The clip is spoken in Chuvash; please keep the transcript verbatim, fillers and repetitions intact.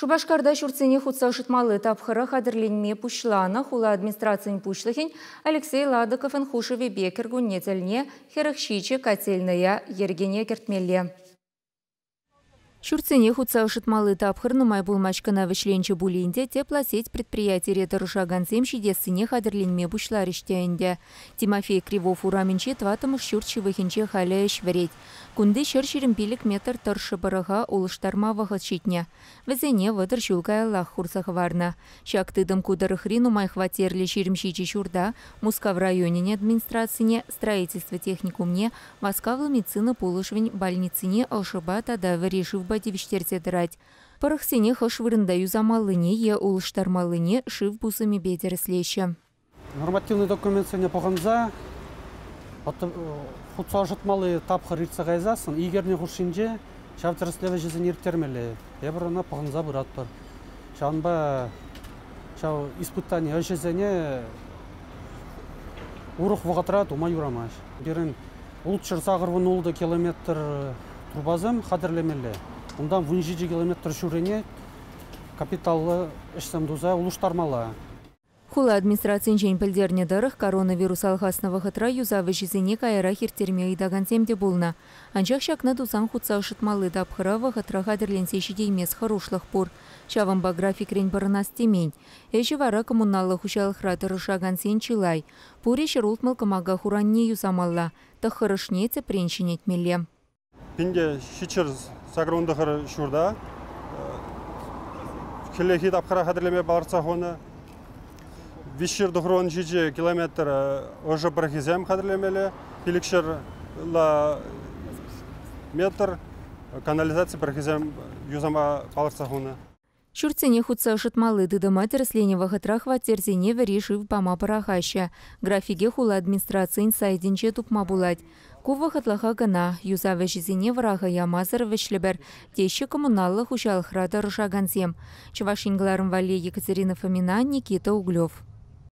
Шупашкарта ҫуртсене хутса ӑшӑтмалли тапхӑра хатӗрленме пуҫланӑ хула администрацийӗн пуҫлӑхӗн Алексей Ладыковӑн хушӑвӗпе кӗркунне тӗлне хӗрӗх ҫичӗ котельнӑя йӗркене кӗртмелле. Ҫуртсене хутса ӑшӑтмалли тапхӑр нумай пулмасть кӑна вӗҫленчӗ пулин те теплосеть предприятире тӑрӑшакансем ҫитессине хатӗрленме пуҫларӗҫ те ӗнтӗ. Тимофей Кривов урамӗнчи тӑваттӑмӗш ҫурт ҫывӑхӗнче халӗ ӗҫ вӗрет. Кунти ҫӗр ҫирӗм пилӗк метр тӑршшӗ пӑрӑха улӑштарма вӑхӑт ҫитнӗ. Вӗсене вӑтӑр ҫул каяллах хурса хӑварнӑ. Ҫак тытӑм ку тӑрӑхри нумай хваттерлӗ ҫирӗм ҫичӗ ҫурта, Мускав районӗн администрацине, строительство техникумне, васкавлӑ медицина пулӑшӑвӗн больницине ӑшӑпа тата вӗри шывпа тивӗҫтерсе тӑрать. Пӑрӑхсене хӑш вырӑнта юсамаллине е улӑштармаллине шыв пусӑмӗпе тӗрӗслеҫҫӗ. Нормативный документсене пӑхӑнса хутса ӑшӑтмалли тапхӑр иртсе кайсассӑн икӗ эрне хушшинче ҫав тӗрӗслев ӗҫӗсене ирттермелле. Эпир ӑна пӑхӑнса пыратпӑр. Ҫавӑнпа ҫав испытани ӗҫӗсене урӑх вӑхӑтра тума юрамасть. Пирӗн ултҫӗр сакӑр вун ултӑ километр трубасем хатӗрлемелле. Унтан вун ҫичӗ километр ҫуррине капиталлӑ ӗҫсем туса улӑштармалла. Хула администрацийӗнчен пӗлтернӗ тӑрӑх, коронавирус алхаснӑ вӑхӑтра юсав ӗҫӗсене каярах ирттерме ыйтакансем те пулнӑ. Анчах ҫакна тусан хутса ӑшӑтмалли тапхӑра вӑхӑтра хатӗрленсе ҫитеймес хӑрушлӑх пур. Ҫавӑнпа графикрен пӑрӑнас темен. Ӗҫӗ вара коммуналлӑ хуҫалӑхра тӑрӑшакансен чылай. Пурӗ ҫӗр ултмӑл кӑмака хуранне юсамалла, тӑххӑрӑшне тӗпрен ҫӗнетмелле. Пинте ҫичҫӗр сакӑр вун тӑхӑр ҫурта хӗллехи тапхӑра хатӗрлеме палӑртса хунӑ. Виҫҫӗр тӑхӑр вун ҫичӗ километр ӑшӑ пӑрӑхӗсем хатӗрлемелле, пилӗкҫӗр метр канализаци пӑрӑхӗсем юсама палӑртса хунӑ. Ҫуртсене хутса ӑшӑтмалли тытӑма тӗрӗсленӗ вӑхӑтра хваттерсене вӗри шыв пама пӑрахаҫҫӗ. Графике хула администрацийӗн сайтӗнче тупма пулать. Ку вӑхӑтлӑха кӑна, юсав ӗҫӗсене вӑраха ямасӑр вӗҫлӗпӗр, теҫҫӗ коммуналлӑ хуҫалӑхра тӑрӑшакансем. Чӑваш Ен кӑларӑм валли Екатерина Фомина, Никита Углев.